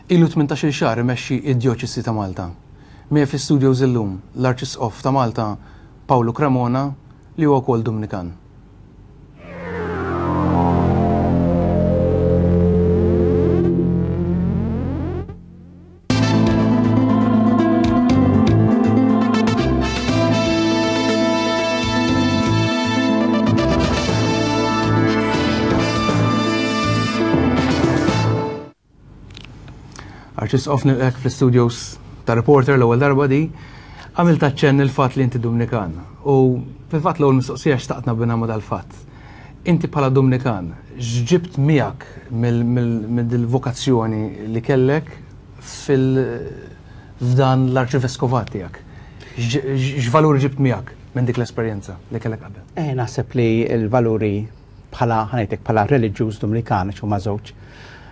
Ilu 18-il xahar imexxi id-Djoċesi ta' Malta. Miegħi fl-istudios illum l-Arċisqof ta' Malta Pawlu Cremona li huwa wkoll Dumnikan. Arċisqof nilqek fl-studios ta' Reporter l-ewwel darba di, għamilt aċċenn il-fatt li inti Dumnikan. U fil-fatt l-ewwel mistoqsija xtaqt nabina ma' dal-fatt. Inti bħala Dumnikan, x'ġibt miegħek mill-vokazzjoni li kellek fil-f'dan l-arċiveskovat tiegħek? X'valuri ġibt miegħek minn dik l-esperjenza li kellek qabel? Eh, naħseb li l-valuri bħala ħanajtek bħala reliġjuż Dumnikan għax huma żewġ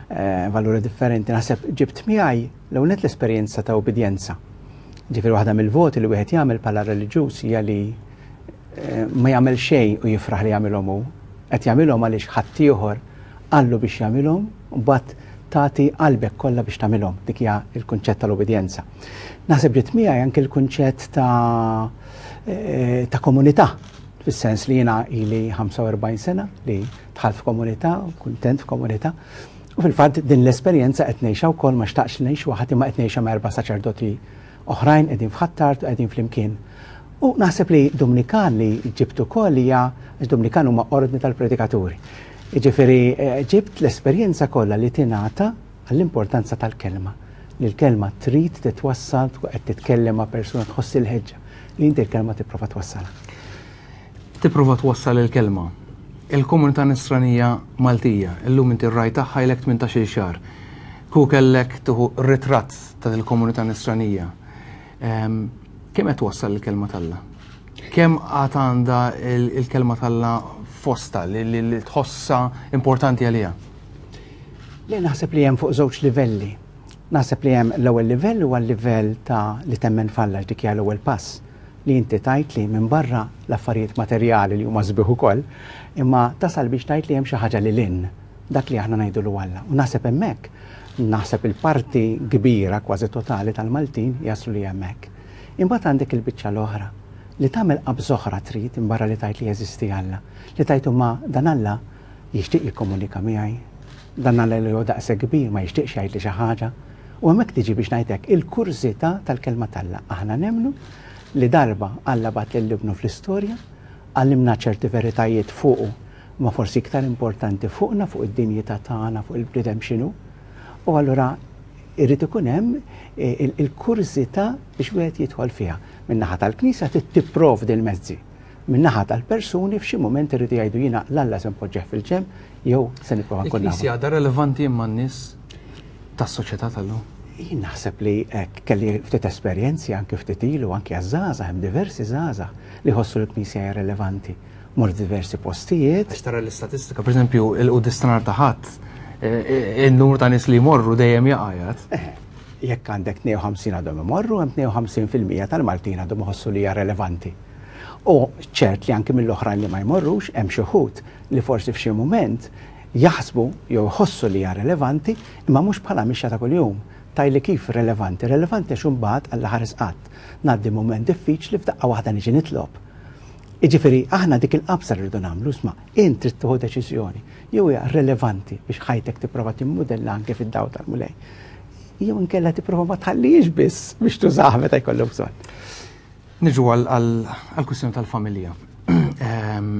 eh, valuri differenti, naħseb ġibt miegħi l-ewwel l-esperjenza ta' ubidjenza. Ġifieri waħda mill-voti li wieħed jagħmel bħala reliġjuż hija li eh, ma jagħmel xejn u jifraħ li jagħmilhom hu. Qed jagħmilhom għaliex ħaddieħor qallu biex jagħmilhom, u mbagħad tagħti qalbek kollha biex tagħmilhom. Dik hija l-kunċett tal-ubidjenza. Naħseb ġiet miegħi anke l-kunċett ta' eh, ta' komunità, fis-sens li jiena ili 45 sena li dħalt f'komunità, kuntent f'komunità. U fil-fatt din l-esperjenza qed ngħixha wkoll ma xtaqx ngħix waħdi ma qed ngħixha ma' erba' saċerdoti oħrajn qegħdin f'Ħ'Attard u qegħdin flimkien. U naħseb li Dumnikan li ġibt ukoll hija għax Dumnikan huma ordni tal-predikaturi. Jiġifieri eh, ġibt l-esperjenza kollha li tingħata għall-importanza tal-kelma. Li l-kelma trid titwassal, tkun qed titkellem ma' persuna tħoss il-ħeġġa li inti l-kelma tipprova twassalha. Tipprova twassal il-kelma. Il-komunità nisranija Maltija, illum inti r-ragħaj tagħha ilek 18-il xahar. Kieku kellek tieħu ritratt ta' il-komunità nisranija. Ehm, kemm qed twassal il-kelma t'Alla? Kemm għad għandha il-kelma t'Alla fosta li tħossha importanti għaliha? Le naħseb li hemm fuq żewġ livelli. Naħseb li hemm l-ewwel livell huwa l-livell ta' li temmen f'Alla dik hija l-ewwel pass li inti tgħid li minn barra l-affarijiet materjali li huma sbieħ ukoll, imma tasal biex tgħid li hemm xi ħaġa lil hinn dak li aħna ngħidulu Alla. U naħseb hemmhekk, naħseb il-parti kbira kważi totali tal-Maltin jaslu li hemmhekk. Imbagħad għandek il-biċċa l-oħra li tagħmel qabża oħra trid imbarra li tgħid li jeżisti Alla, li tgħid imma dan Alla jixtieq jikkomunika miegħi, dan Alla li hu daqshekk kbir ma jixtieqx jgħidli xi ħaġa. U hemmhekk tiġi biex ngħid hekk il-kurżità tal-kelma t'Alla. Aħna nemmnu li darba Alla bagħat lil Ibnu fl-istorja, għallimna ċerti veritajiet fuqu, ma forsi iktar importanti fuqna, fuq id-dinjità tagħna, fuq il-bniedem x'inhu. U allura irrid ikun hemm eh, il-kurżità biex wieħed jidħol fiha. Min-naħa tal-Knisja trid tipprovdi l-mezzi. Min-naħa tal-persuni f'xi mument irridu jgħidu jiena l-Alla se npoġġih fil-ġenb jew se nipprova nkun nafu. Il-Knisja għadha relevanti imma n-nies tas-soċjetà tal-lum? Jien naħseb li hekk kelli ftit esperjenzi anke ftit ilu anke għaż-żgħażagħ hemm diversi żgħażagħ li jħossu l-Knisja hija relevanti. Mort diversi postijiet. Għax tara l-istatistika, pereżempju, il-quddies ta' nhar ta' Ħadd, eh, eh, in-numru ta' nies li jmorru dejjem jaqa' jgħid. Eh, jekk għandek 52 għadhom imorru, hemm 52% tal-Maltin għadhom iħossu li hija relevanti. U ċert li anki mill-oħrajn li ma jmorrux, hemm xi wħud li forsi f'xi mument jaħsbu jew iħossu li hija relevanti, imma mhux bħala mixja ta' kuljum. Tgħidli kif relevanti? Relevanti għax imbagħad Alla ħares qatt ngħaddi mument diffiċli f'daqqa waħda niġi nitlob. Jiġifieri aħna dik il-qabża li rridu nagħmlu, isma' int trid tieħu deċiżjoni jew hija relevanti biex ħajtek tipprova timmudella anke fid-dawl tal-Mulej. Jew inkella tipprova ma tħallihiex biss biex tużaha meta jkollok bżonn. Niġu għall-kwistjoni tal-familja. Ehm,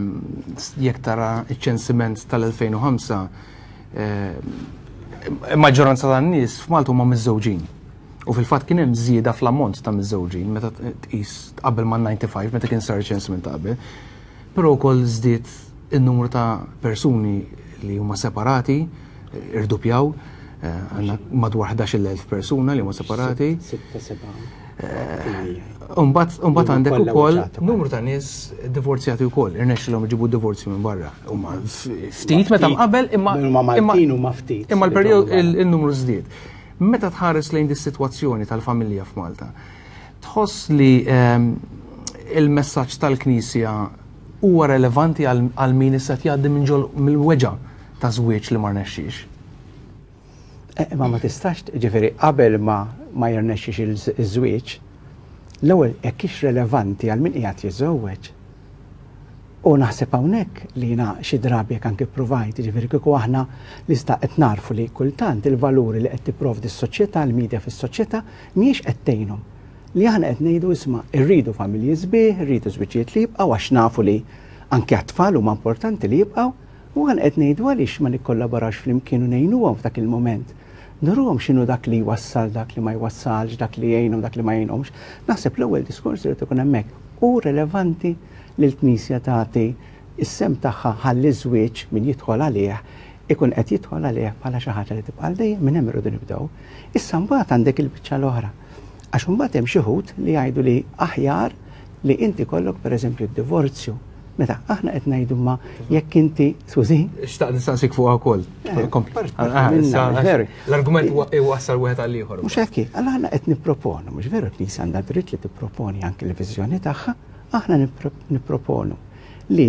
jekk tara iċ-ċensiment tal-2005, ehm, maġġoranza tan-nies f'Malta huma miżżewġin. U fil-fatt kien hemm żieda fl-ammont ta' miżżewġin meta tqis qabel ma' 95 meta kien sar ċensiment ta' qabel. Però wkoll żdied in-numru ta' persuni li huma separati, irdupjaw, eh, għandna madwar 11,000 persuna li huma separati. Umbat eh, għandek ukoll numru ta' nies divorzjati wkoll, irnexxilhom iġibu divorzju minn barra. Huma ftit meta mqabel imma imma ftit. Imma l-perjodu il-numru żdied. Meta tħares lejn dis-sitwazzjoni tal-familja f'Malta, tħoss li ehm, il-messaġġ tal-Knisja huwa relevanti għal min issa jgħaddi minn ġol mill-weġa' ta' żwieġ li ma rnexxiex? Eh, ma ma tistax, ġifieri qabel ma ma jirnexxix iż-żwieġ, l-ewwel jekk hix relevanti għal min qiegħed jiżżewweġ. U naħseb hawnhekk li jiena xi drabi jekk anke ppruvajt, jiġifieri kieku aħna l-ista qed narfu li kultant il-valuri li qed tipprovdi s-soċjetà, il-media fis-soċjetà mhijiex qed tgħinhom. Li aħna qed ngħidu isma' rridu familji sbieħ, irridu żwiġijiet li jibqgħu għax nafu li anke għat-tfal huma importanti li jibqgħu, u aħna qed ngħidu għaliex ma nikkollaborawx flimkien u ngħinuhom f'dak il-mument. Nuruhom x'inhu dak li jwassal, dak li ma jwassalx, dak li jgħinhom, dak li ma jgħinhomx. Naħseb l-ewwel diskors irid ikun hemmhekk. Hu relevanti li l-Knisja tagħti s-sehem tagħha ħalli ż-żwieġ min jidħol għalih ikun qed jidħol għalih bħala xi ħaġa li tibqa' għal dejjem, minn hemm irridu nibdew. Issa mbagħad għandek il-biċċa l-oħra. Għax imbagħad hemm xi wħud li jgħidu li aħjar li inti kollok pereżempju d-divorzju. Meta aħna qed ngħidu ma jekk inti, skużi? Xtaqt nistaqsik fuqha wkoll. Eh, ah, l-argument iwassal wieħed għal ieħor. Mhux hekk, għal aħna qed nipproponu, mhux veru l-Knisja għandha dritt li tipproponi anke l-viżjoni tagħha, aħna nipproponu li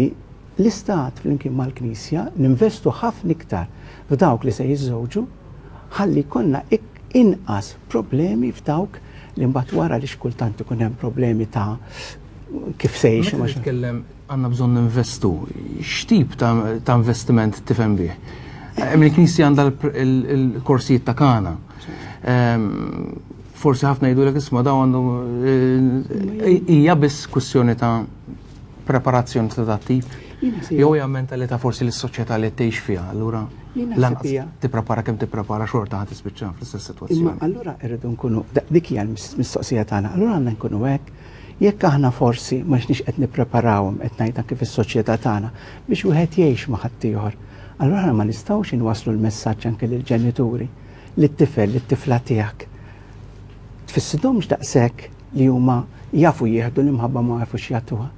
l-Istat flimkien mal-Knisja ninvestu ħafna iktar f'dawk li se jiżżewġu ħalli jkollna inqas problemi f'dawk li mbagħad wara li xkultant ikun hemm problemi ta' kif se jgħixu. Meta titkellem għandna bżonn ninvestu, x'tip ta' investiment tifhem bih? Hemm il-Knisja għandha l-korsijiet ta' kana. Ehm, forsi ħafna jgħidulek isma' dawn għandhom eh, hija biss kwistjoni ta' preparazzjoni ta' dat tip. Jew hija mentalità forsi lis-soċjetà li tgħix fiha, allura lanqas tipprepara kemm tipprepara xorta ħa tispiċċa fl-istess sitwazzjoni. Imma allura rridu nkunu dik hija l-mistoqsija tagħna, allura għandna nkunu hekk jekk aħna forsi ma xniex qed nippreparawhom qed ngħid anke fis-soċjetà tagħna biex wieħed jgħix ma' ħaddieħor. Allura aħna ma nistgħux inwasslu l-messaġġ anke lill-ġenituri, lit-tifel, lit-tifla tiegħek. Tfissidhomx daqshekk li huma jafu jieħdu l-imħabba ma jafux jagħtuha.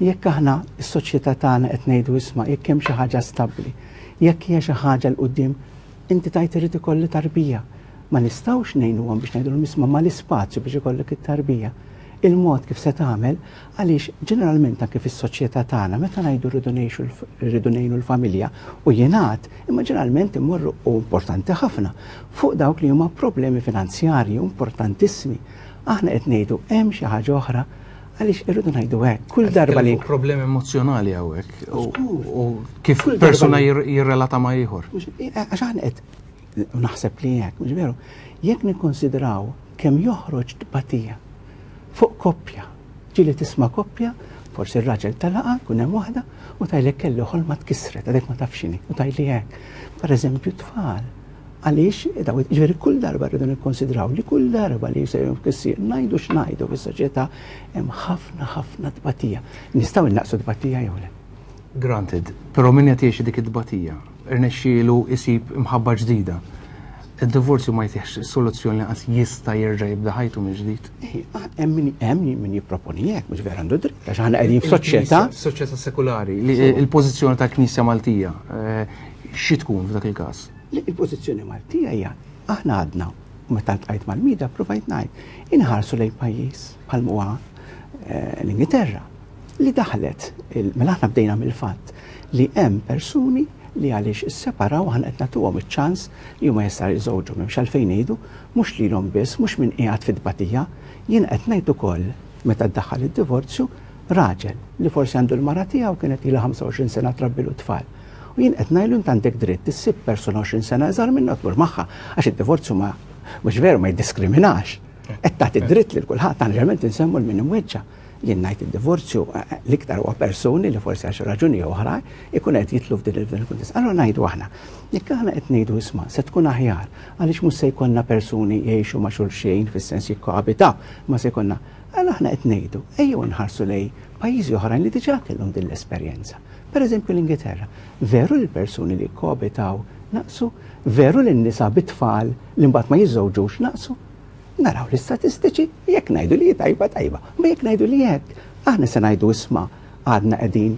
Jekk aħna s-soċjetà tagħna qed ngħidu isma' jekk hemm xi ħaġa stabbli, jekk hija xi ħaġa 'l quddiem, inti tgħid irid ikolli tarbija. Ma nistgħux ngħinuhom biex ngħidulhom isma' mal-ispazju biex ikollok it-tarbija. Il-mod kif se tagħmel għaliex ġeneralment anke fis-soċjetà tagħna meta ngħidu rridu ngħixu rridu ngħinu l-familja u jingħad imma ġeneralment immorru u importanti ħafna fuq dawk li huma problemi finanzjarji importantissimi. Aħna qed ngħidu hemm xi ħaġa oħra Għaliex irridu ngħidu hekk, kull darba li. Problemi emozjonali hawnhekk u kif persuna jirrelata ma' ieħor. Għax aħna qed naħseb li hekk, mhux veru, jekk nikkonsidraw kemm joħroġ tbatija fuq koppja, ġieli tisma' koppja, forsi r-raġel talaqa, kun hemm waħda, u tajlek kelli ħolma tkissret, għadek ma tafx x'inhi, u tajli hekk. Per eżempju, tfal Għaliex, ġifieri kull darba rridu nikkonsidraw li kull darba li jsir tkissir, ngħidu x'ngħidu fis-soċjetà hemm ħafna ħafna tbatija. Nistgħu innaqsu tbatija jew le? Granted, però min qed jgħix dik it-tbatija, irnexxielu jsib imħabba ġdida. Id-divorzju ma jtihx soluzzjoni lanqas jista' jerġa' jibda ħajtu mill-ġdid. Hemm min hemm min jipproponi hekk, mhux vera għandu dritt, għax aħna qegħdin f'soċjetà. Soċjetà sekulari, il-pożizzjoni tal-Knisja Maltija eh, xi tkun f'dak il-każ? Il-pożizzjoni Maltija hija aħna għadna meta ltqajt mal-media provajt ngħid inħarsu lejn pajjiż bħal huwa eh, l-Ingilterra li daħlet mela aħna bdejna mill-fatt li hemm persuni li għaliex isseparaw aħna qed nagħtuhom iċ-ċans li huma jistgħu jiżżewġu m'hemmx għalfejn ngħidu mhux lilhom biss, mhux min qiegħed fit-tbatija, jien qed ngħid ukoll meta ddaħħal id-divorzju raġel li forsi għandu l-mara tiegħu kienet ilha 25 sena trabbilu tfal. U jien qed ngħidlu int għandek dritt issib persuna 20 sena iżgħar minna tmur magħha għax id-divorzju ma mhux veru ma jiddiskriminax. Qed tagħti dritt lil kulħadd, aħna ġeneralment insemmu l min imweġġa'. Jien ngħid id-divorzju eh, l-iktar huwa persuni li forsi għax raġuni oħra ikun qed jitlu f'din il-kuntest. Allura ngħidu aħna, jekk aħna qed ngħidu isma' se tkun aħjar għaliex mhux se jkollna persuni jgħixu ma' xulxin fis-sens jikkoabitaw, ma se jkollna. Allura aħna qed ngħidu ejjew nħarsu lej pajjiżi oħrajn li diġà kellhom din l-esperjenza. Per eżempju l-Ingilterra. Veru li l-persuni li jikkoabitaw naqsu? Veru li n-nisa bit-tfal li mbagħad ma jiżżewġux naqsu? Naraw l-istatistiċi, jekk ngħidu li tajba tajba, ma jekk ngħidu li hekk, aħna se ngħidu isma' għadna qegħdin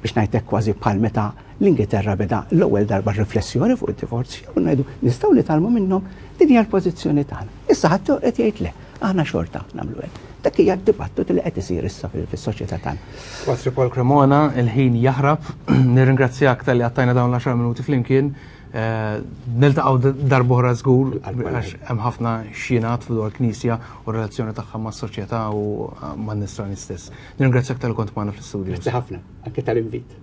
biex ngħidlek kważi bħal meta l-Ingilterra beda l-ewwel darba riflessjoni fuq id-divorzju, u ngħidu nistgħu nitgħallmu minnhom din hija l-pożizzjoni tagħna. Issa ħadd qed jgħid le. Aħna xorta nagħmlu hekk. Dak hija d-dibattitu li qed isir issa fis-soċjetà tagħna. Patri Paul Cremona, il-ħin jaħrab. Nirringrazzjak talli għattajna dawn l-10 minuti flimkien. Eh, niltaqgħu darb'oħra żgur għax hemm ħafna xjenat dwar knisja u relazzjoni tagħha mas-soċjetà u man-nisrani stess. Nirringrazzjak tal kont magħna fl-istudju. Grazzi ħafna, anke tal-invit.